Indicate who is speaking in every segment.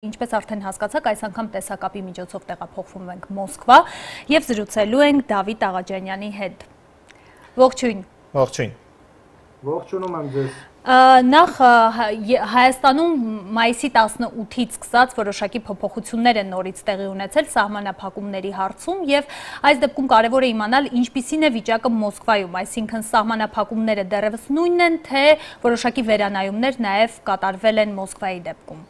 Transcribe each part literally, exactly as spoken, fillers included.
Speaker 1: Ինչպես արդեն հասկացաք, այս անգամ տեսակապի միջոցով տեղափոխվում ենք Մոսկվա եւ զրուցելու ենք Դավիթ Աղաջանյանի հետ։ Ողջույն։
Speaker 2: Ողջույն։
Speaker 3: Ողջունում եմ ձեզ։
Speaker 1: Նախ Հայաստանում մայիսի տասնութից սկսած որոշակի փոփոխություններ են նորից տեղի ունեցել սահմանափակումների հարցում եւ այս դեպքում կարեւոր է իմանալ ինչպիսին է վիճակը Մոսկվայում, այսինքն սահմանափակումները դեռևս նույնն են, թե որոշակի վերանայումներ նաեւ կատարվել են Մոսկվայի դեպքում։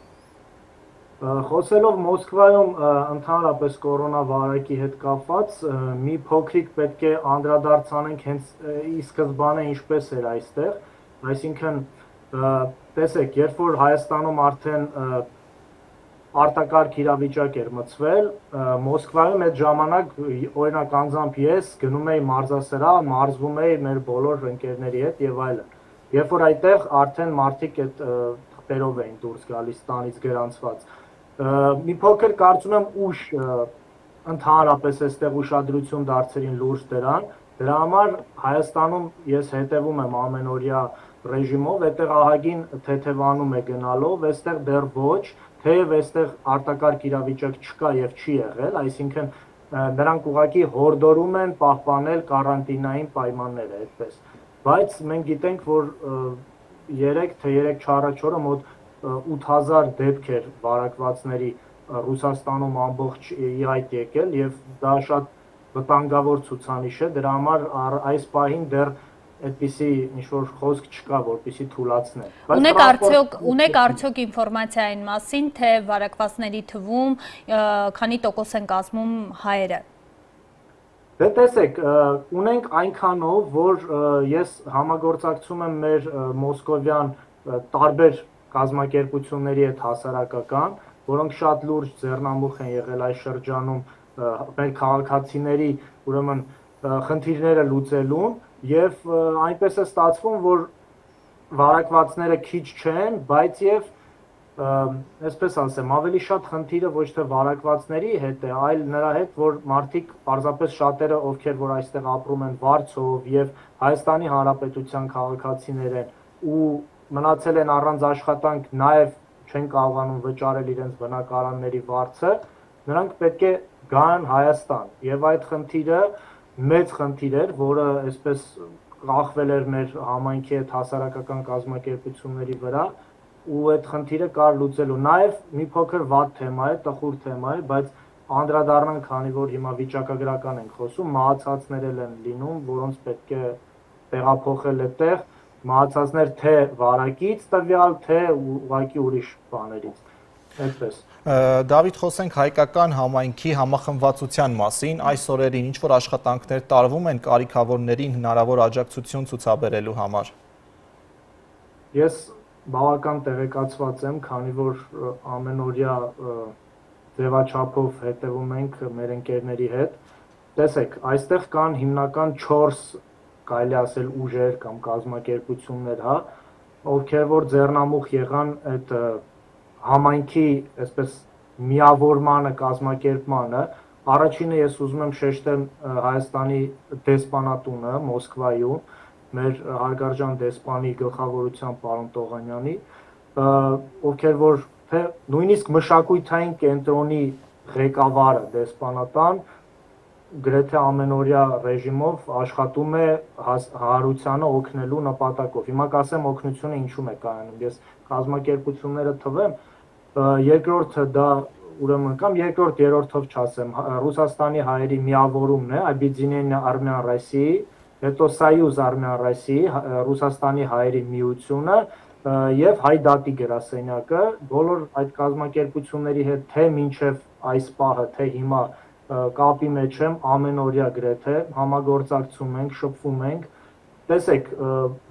Speaker 3: Խոսելով Մոսկվայում ընդհանրապես կորոնավիրուսի հետ կապված, մի փոքրիկ պետք է անդրադարձ անենք հենց ի սկզբանե ինչպես էր այստեղ, այսինքն տեսեք, երբ որ Հայաստանում արդեն արտակարգ իրավիճակ էր մտցվել, Մոսկվայում այդ ժամանակ օրինակ անձամբ ես գնում էի մարզասրահ, մարզվում էի մեր բոլոր ընկերների հետ եւ այլն։ Երբ որ այդտեղ արդեն մարդիկ այդ թղթերով էին դուրս գալիս տանից գրանցված, մի փոքր կարծում եմ ուշ ընդհանրապես այստեղ ուշադրություն դարձրին լուրջ դրան, դրա համար Հայաստանում ես հետևում եմ ամենօրյա ռեժիմով, այդտեղ ահագին թեթևանում է գնալով, այստեղ դեռ ոչ, թեև այստեղ արտակարգ իրավիճակ չկա եւ չի եղել, այսինքն նրանք ուղղակի հորդորում են պահպանել կարանտինային պայմանները այդպես, բայց մենք գիտենք, որ երեք թե երեք-չորս օրը մոտ ութ հազար դեպք էր վարակվածների Ռուսաստանում ամբողջ ի հայտ եկել եւ դա շատ վտանգավոր ցուցանիշ է, դրա համար այս պահին դեռ այդպիսի ինչ-որ խոսք չկա, որպեսզի թուլացնեն։
Speaker 1: Ունեք արդյոք ունեք արդյոք ինֆորմացիա այն մասին, թե վարակվածների թվում քանի տոկոս են կազմում հայերը։
Speaker 3: Դե տեսեք, ունենք այնքանով, որ ես համագործակցում եմ մեր մոսկովյան տարբեր կազմակերպությունների հետ հասարակական, որոնք շատ լուրջ ձեռնամուխ են եղել այս շրջանում մեր քաղաքացիների, ուրեմն խնդիրները լուծելուն եւ այնպես է ստացվում, որ վարակվածները քիչ չեն, բայց եւ այսպես ասեմ, ավելի շատ խնդիրը ոչ թե վարակվածների հետ է, այլ նրա հետ, որ մարդիկ պարզապես շատերը, ովքեր որ այստեղ ապրում են վարձով եւ Հայաստանի Հանրապետության քաղաքացիներ են ու մնացել են առանց աշխատանք, նաև չեն կարողանում վճարել իրենց բնակարանների վարձը, նրանք պետք է գան Հայաստան եւ այդ խնդիրը մեծ խնդիր էր, որը այսպես կախվել էր մեր համայնքի հետ հասարակական կազմակերպությունների վրա ու այդ խնդիրը կար լուծելու։ Նաև մի փոքր վատ թեմա է, տխուր թեմա է, բայց անդրադառնանք, քանի որ հիմա վիճակագրական ենք խոսում, մահացածներ են լինում, որոնց պետք է տեղափոխել այդտեղ մահացածներ թե վարակից տվյալ, թե ուղղակի ուրիշ բաներից, այդպես։
Speaker 2: Դավիթ, խոսենք հայկական համայնքի համախմբվածության մասին, այս օրերին ինչ-որ աշխատանքներ տարվում են կարիքավորներին հնարավոր աջակցություն ցուցաբերելու համար։
Speaker 3: Ես բավական տեղեկացված եմ, քանի որ ամենօրյա ձևաչափով հետևում ենք մեր ընկերների հետ։ Տեսեք, այստեղ կան հիմնական չորս կարելի ասել ուժեր կամ կազմակերպություններ, հա, ովքեր որ ձեռնամուխ եղան այդ համայնքի, այսպես միավորմանը, կազմակերպմանը, առաջինը ես ուզում եմ շեշտեմ Հայաստանի դեսպանատունը Մոսկվայում, մեր հարգարժան դեսպանի գլխավորությամբ պարոն Տողանյանի, ովքեր որ թե նույնիսկ մշակութային կենտրոնի ղեկավարը դեսպանատան գրեթե ամենօրյա ռեժիմով աշխատում է հարությանը օգնելու նպատակով։ Հիմա կասեմ օգնությունը ինչու է կայանում։ Ես կազմակերպությունները թվեմ, երկրորդը դա ուրեմն կամ երկրորդ երրորդով չասեմ, Ռուսաստանի հայերի միավորումն է, Объединение Армян России, հետո Союз Армян России, Ռուսաստանի հայերի միությունը եւ Հայ դատի գրասենյակը, բոլոր այդ կազմակերպությունների հետ թե մինչեւ այս պահը, թե հիմա կապի մեջ եմ ամենօրյա գրեթե համագործակցում ենք, շփվում ենք, տեսեք,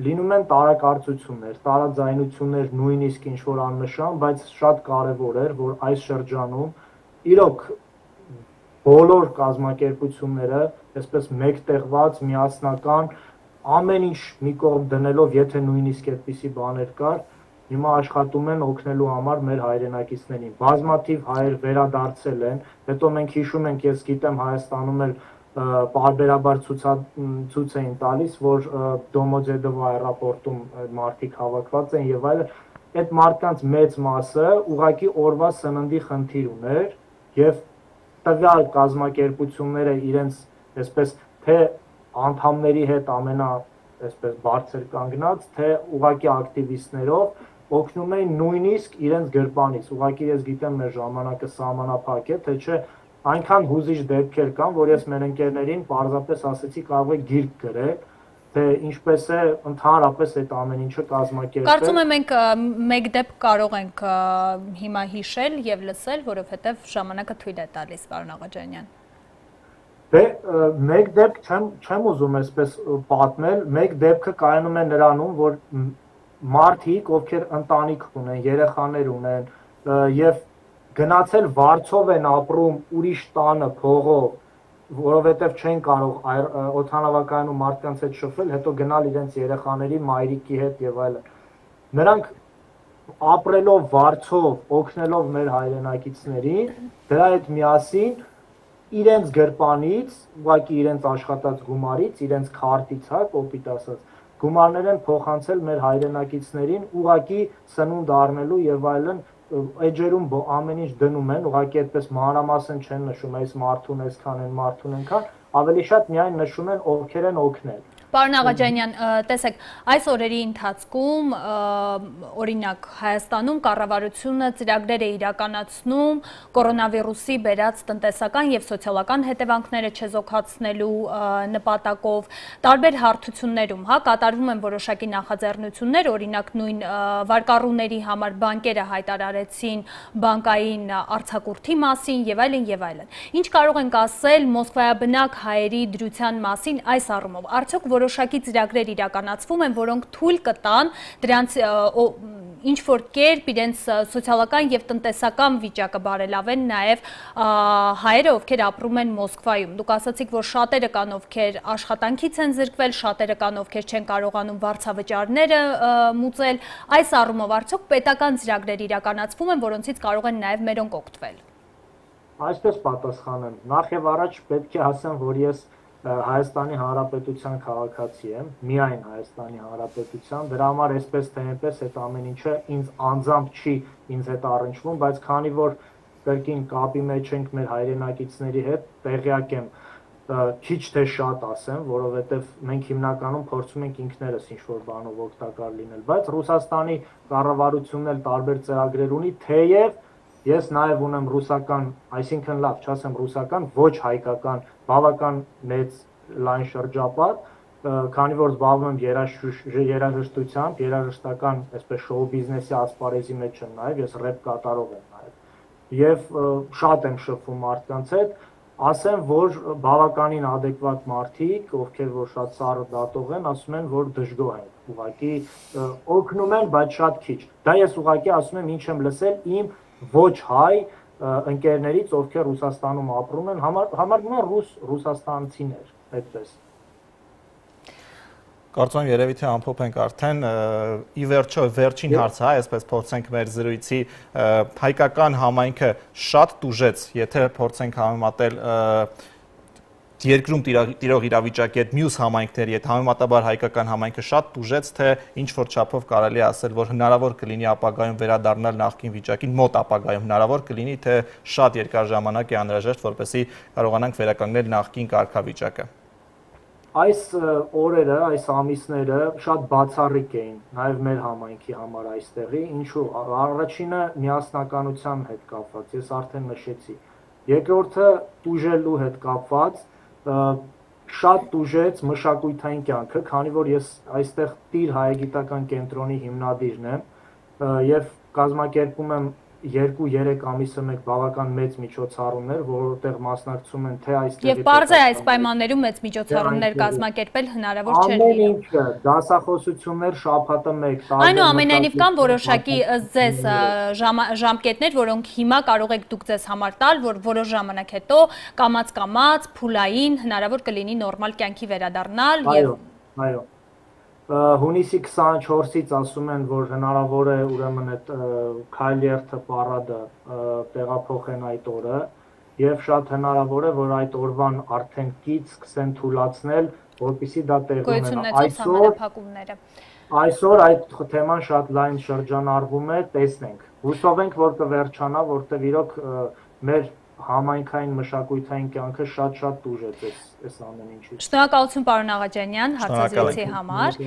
Speaker 3: լինում են տարակարծություններ, տարաձայնություններ, նույնիսկ ինչ-որ աննշան, բայց շատ կարևոր էր, որ այս շրջանում իրոք բոլոր կազմակերպությունները, այսպես մեկտեղված, միասնական, ամեն ինչ մի կողմ դնելով, եթե նույնիսկ այդպիսի բաներ կար, հիմա աշխատում են օգնելու համար մեր հայրենակիցներին։ Բազմաթիվ հայեր վերադարձել են, հետո մենք հիշում ենք, ես գիտեմ Հայաստանում էլ պարբերաբար ցույց էին տալիս, որ Դոմոդեդովո աերոպորտում մարդիկ հավաքված են եւ այլն, այդ մարդկանց մեծ մասը ուղղակի օրվա սննդի խնդիր ուներ եւ տվյալ կազմակերպությունները իրենց այսպես թե անդամների հետ ամենա այսպես բարձր կանգնած, թե ուղղակի ակտիվիստներով օգնում էին նույնիսկ իրենց գրպանից։ Ուղղակի ես գիտեմ մեր ժամանակը սահմանափակ է, թե չէ այնքան հուզիչ դեպքեր կան, որ ես մեր ընկերներին պարզապես ասեցի կարող է գիրք գրել, թե ինչպես է ընդհանրապես այդ ամեն ինչը կազմակերպել։
Speaker 1: Կարծում եմ մենք մեկ դեպք կարող ենք հիմա հիշել եւ լսել, որովհետեւ ժամանակը թույլ է տալիս, պարոն Աղաջանյան։
Speaker 3: Դե մեկ դեպք չեմ չեմ ուզում այսպես պատմել, մեկ դեպքը կայանում է նրանում, որ մարդիկ, ովքեր ընտանիք ունեն, երեխաներ ունեն եւ գնացել վարձով են ապրում ուրիշ տանը փողով, որովհետև չեն կարող օդանավակայանում մարդկանց հետ շփվել, հետո գնալ իրենց երեխաների, մայրիկի հետ եւ այլն։ Նրանք ապրելով վարձով, օգնելով մեր հայրենակիցներին, դրա հետ միասին իրենց գրպանից, ուղղակի իրենց աշխատած գումարից, իրենց քարտից, հա, կոպիտ ասած, գումարներ են փոխանցել մեր հայրենակիցներին, ուղղակի սնունդ առնելու եւ այլն էջերում ամեն ինչ դնում են, ուղղակի այդպես մանրամասն չեն նշում, այս մարդուն այսքան են, մարդուն այնքան, ավելի շատ միայն նշում են ովքեր են օգնել։
Speaker 1: Պարոն Աղաջանյան, տեսեք, այս օրերի ընթացքում օրինակ Հայաստանում կառավարությունը ծրագրեր է իրականացնում կորոնավիրուսի բերած տնտեսական եւ սոցիալական հետևանքները չեզոքացնելու նպատակով տարբեր հարթություններում, հա, կատարվում են որոշակի նախաձեռնություններ, օրինակ նույն վարկառուների համար բանկերը հայտարարեցին բանկային արձակուրդի մասին եւ այլն եւ այլն։ Ինչ կարող ենք ասել Մոսկվայաբնակ հայերի դրության մասին այս առումով։ Արդյոք որոշակի ծրագրեր իրականացվում են, որոնք թույլ կտան դրանց ինչ որ կերպ իրենց սոցիալական եւ տնտեսական վիճակը բարելավեն նաեւ հայերը, ովքեր ապրում են Մոսկվայում։ Դուք ասացիք, որ շատերը կան, ովքեր աշխատանքից են զրկվել, շատերը կան, ովքեր չեն կարողանում վարձավճարները մուծել։ Այս առումով արդյոք պետական ծրագրեր իրականացվում են, որոնցից կարող են նաեւ մերոնք օգտվել։
Speaker 3: Այսպես պատասխանեմ։ Նախ եւ առաջ պետք է ասեմ, որ ես Հայաստանի Հանրապետության քաղաքացի եմ, միայն Հայաստանի Հանրապետության, դրա համար այսպես թե այնպես այդ ամեն ինչը ինձ անձամբ չի ինձ հետ առնչվում, բայց քանի որ կրկին կապի մեջ ենք մեր հայրենակիցների հետ, տեղյակ եմ, քիչ թե շատ ասեմ, որովհետև մենք հիմնականում փորձում ենք ինքներս ինչ-որ բանով օգտակար լինել, բայց Ռուսաստանի կառավարությունն էլ տարբեր ծրագրեր ունի, թեև ես նաև ունեմ ռուսական, այսինքն լավ, չասեմ ռուսական, ոչ հայկական, բավական մեծ լայն շրջապատ, քանի որ զբաղվում եմ երաժշտությամբ, երաժշտական, այսպես շոու բիզնեսի ասպարեզի մեջ եմ նաև, ես ռեփ կատարող եմ նաև, եւ շատ եմ շփվում մարդկանց հետ, ասեմ, որ բավականին adekvat մարդիկ, ովքեր որ շատ սառը դատող են, ասում են, որ դժգոհ են, ուղղակի օգնում են, բայց շատ քիչ։ Դա ես ուղղակի ասում եմ, ինչ եմ լսել իմ ոչ հայ ընկերներից, ովքեր Ռուսաստանում ապրում են, համարվում են ռուս ռուսաստանցիներ, այդպես։
Speaker 2: Կարծում եմ երևի թե ամփոփենք արդեն ի վերջո վերջին հարցը, հա, այսպես փորձենք մեր զրույցի հայկական համայնքը շատ տուժեց, եթե փորձենք համեմատել երկրում տիրող իրավիճակի հետ մյուս համայնքների հետ, համեմատաբար հայկական համայնքը շատ տուժեց, թե ինչ որ չափով կարելի ասել, որ հնարավոր կլինի ապագայում վերադառնալ նախկին վիճակին, մոտ ապագայում հնարավոր կլինի, թե շատ երկար ժամանակ է անհրաժեշտ, որպեսզի կարողանանք վերականգնել նախկին կարգավիճակը։
Speaker 3: Այս օրերը, այս ամիսները շատ բացառիկ էին, նաև մեր համայնքի համար այստեղի, ինչու առաջինը միասնականության հետ կապված, ես արդեն նշեցի, երկրորդը տուժելու հետ կապված, շատ տուժեց մշակութային կյանքը, քանի որ ես այստեղ Տիր հայագիտական կենտրոնի հիմնադիրն եմ եւ կազմակերպում եմ երկու-երեք ամիսը մեկ բավական մեծ միջոցառումներ, որովհետեղ մասնակցում են թե այստեղ
Speaker 1: Եվ պարզ է այս պայմաններում մեծ միջոցառումներ կազմակերպել հնարավոր չէր լինում։
Speaker 3: Ամեն ինչը, դասախոսություններ շաբաթը մեկ,
Speaker 1: այնուամենայնիվ կան որոշակի ձեզ ժամկետներ, որոնք հիմա կարող եք դուք ձեզ համար տալ, որ որոշ ժամանակ հետո կամաց-կամաց, փուլային հնարավոր կլինի նորմալ կյանքի վերադառնալ եւ
Speaker 3: այո Հունիսի քսանչորսից ասում են, որ հնարավոր է ուրեմն այդ քայլերթը պարադը տեղափոխեն այդ օրը եւ շատ հնարավոր է, որ այդ օրվան արդեն կից սկսեն թուլացնել, որպեսզի դա տեղի ունենա։
Speaker 1: Այսօր
Speaker 3: Այսօր այդ թեման շատ լայն շրջանառվում է, տեսնենք։ Հուսով ենք, որ կվերջանա, որտեղ իրոք մեր համայնքային մշակութային կյանքը շատ-շատ տուժեց այս ամեն ինչից։
Speaker 1: Շնորհակալություն պարոն Աղաջանյան հարցազրույցի համար։